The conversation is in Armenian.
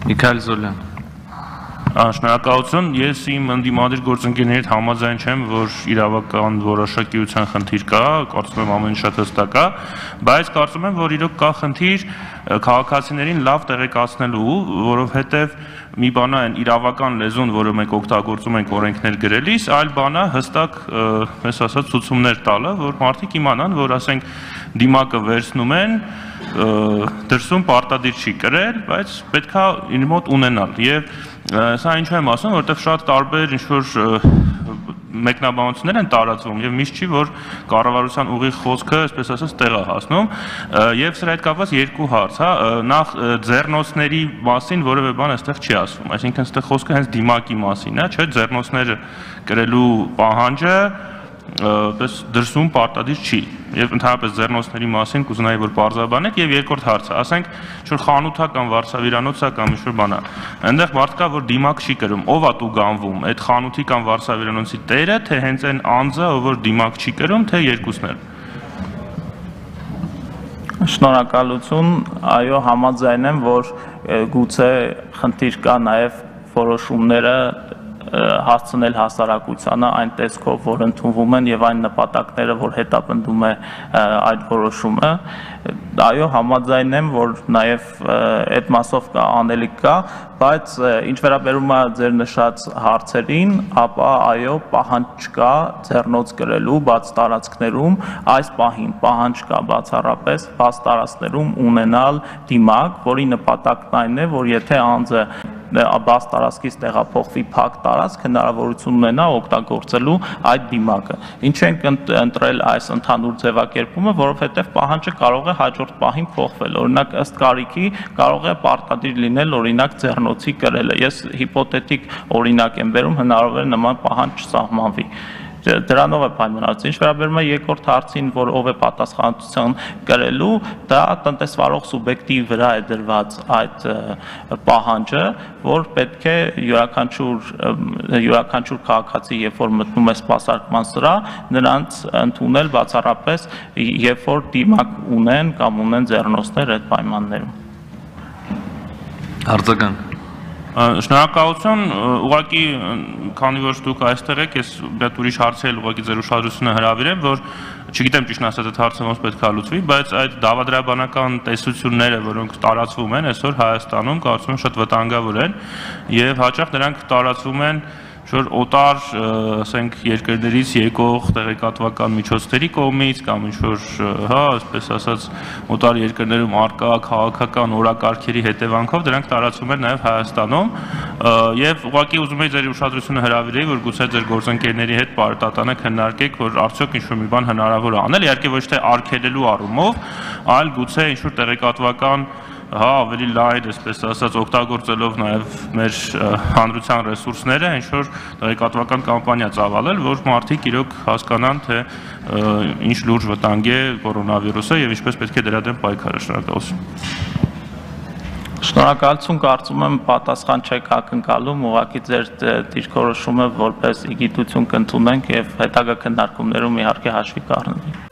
Միքայել Զոլյան։ Շնորհակալություն, ես իմ ընդդիմադիր գործընկերների հետ համաձայն չեմ, որ իրավական որոշակիության խնդիր կա, կարծում եմ ամեն ինչ շատ հստակ է, բայց կարծում եմ, որ իրոք կա խնդիր քաղաքացիներին լավ տեղեկացնելու, որովհետև մի բան է այն իրավական լեզուն, որը մենք օգտագործում ենք օրենքներ գրելիս, այլ բան է հստակ, ես ասած, ցուցումներ տալը, որ մարդիկ իմանան, որ ասենք դիմակը վերցնում են, դրսում պարտադիր չի կրել, բայց պետք է իր մոտ ունենալ եւ սա ինչու եմ ասում, որովհետեւ շատ տարբեր ինչ-որ մեկնաբանություններ են տարածվում եւ միշտ չի որ կառավարության ուղիղ խոսքը, այսպես ասած, տեղ է հասնում եւ սրա հետ կապված երկու հարց, հա, նախ ձեռնոցների մասին որևէ բան այստեղ չի ասվում, այսինքն այստեղ խոսքը հենց դիմակի մասին է, չէ՞, ձեռնոցները կրելու պահանջը դրսում պարտադիր չի եւ ընդհանրապես ձեռնոցների մասին կուզենայի որ բարձրաբանեք եւ երկրորդ հարցը ասենք ինչ-որ խանութա կամ վարսավիրանոցա կամ ինչ-որ բան է այնտեղ մարդ կա որ դիմակ չի կրում ով է դու գանվում այդ խանութի կամ վարսավիրանոցի տերը թե հենց այն անձը ով որ դիմակ չի կրում թե երկուսն էլ Շնորհակալություն այո համաձայն եմ որ գուցե խնդիր կա նաեւ որոշումները հասցնել հասարակությանը այն տեսքով, որ ընդունվում են եւ այն նպատակները, որ հետապնդում է այդ որոշումը, այո համաձայն եմ, որ նաեւ այդ մասով կա անելիք կա, բայց ինչ վերաբերում է ձեր նշած հարցերին, ապա այո պահանջ կա ձեռնոց կրելու բաց տարածքներում, այս պահին պահանջ կա բացառապես բաց տարածքներում ունենալ դիմակ, որի նպատակն այն է, որ եթե անձը բաց տարածքից տեղափոխվի փակ տարածք հնարավորություն ունենա օգտագործելու այդ դիմակը։ Ինչ ենք ընտրել այս ընդհանուր ձևակերպումը, որովհետև պահանջը կարող է հաջորդ պահին փոխվել։ Օրինակ ըստ կարիքի կարող է պարտադիր լինել օրինակ ձեռնոցի կրելը։ Ես հիպոթետիկ օրինակ եմ բերում, հնարավոր է նման պահանջ չսահմանվի։ Դրանով է պայմանավորված։ Ինչ վերաբերում է երկրորդ հարցին, որ ով է պատասխանատվություն կրելու, դա տնտեսվարող սուբյեկտի վրա է դրված այդ պահանջը, որ պետք է յուրաքանչյուր քաղաքացի, երբ որ մտնում է սպասարկման սրահ, նրանց ընդունել բացառապես, երբ որ դիմակ ունեն կամ ունեն ձեռնոցներ այդ պայմաններում։ Արձագանք Շնորհակալություն, ուղղակի քանի որ դուք այստեղ եք, ես շատ ուրիշ հարցեր ուղղակի ձեր ուշադրությունը հրավիրեմ, որ չգիտեմ ճիշտ ասած այդ հարցը ոնց պետք է լուծվի, բայց այդ դավադրաբանական տեսությունները, որոնք տարածվում են այսօր Հայաստանում, կարծում եմ շատ վտանգավոր են եւ հաճախ դրանք տարածվում են որ օտար, ասենք, երկրներից եկող տեղեկատվական միջոցների կողմից կամ ինչ-որ, հա, այսպես ասած, օտար երկրներում արկա քաղաքական օրակարգերի հետևանքով դրանք տարածվում են նաև Հայաստանում եւ ուղղակի ուզում եի ձեր ուշադրությունը հրավիրեի, որ գուցե ձեր գործընկերների հետ պարտատանը քննարկեք, որ արդյոք ինչ-որ մի բան հնարավոր է անել, իհարկե ոչ թե արգելելու առումով, այլ գուցե ինչ-որ տեղեկատվական հա ավելի լայր, այսպես ասած, օգտագործելով նաև մեր հանրության ռեսուրսները, ինչ-որ տեղեկատվական կամպանիա ծավալել, որ մարդիկ իրոք հասկանան, թե ինչ լուրջ վտանգ է կորոնավիրուսը եւ ինչպես պետք է դրա դեմ պայքարել։ Շնորհակալություն։ Շնորհակալություն, կարծում եմ պատասխան չեք ակնկալում, ուղղակի ձեր դիրքորոշումը որպես իգիտություն կընդունենք եւ հետագա քննարկումներում իհարկե հաշվի կառնենք։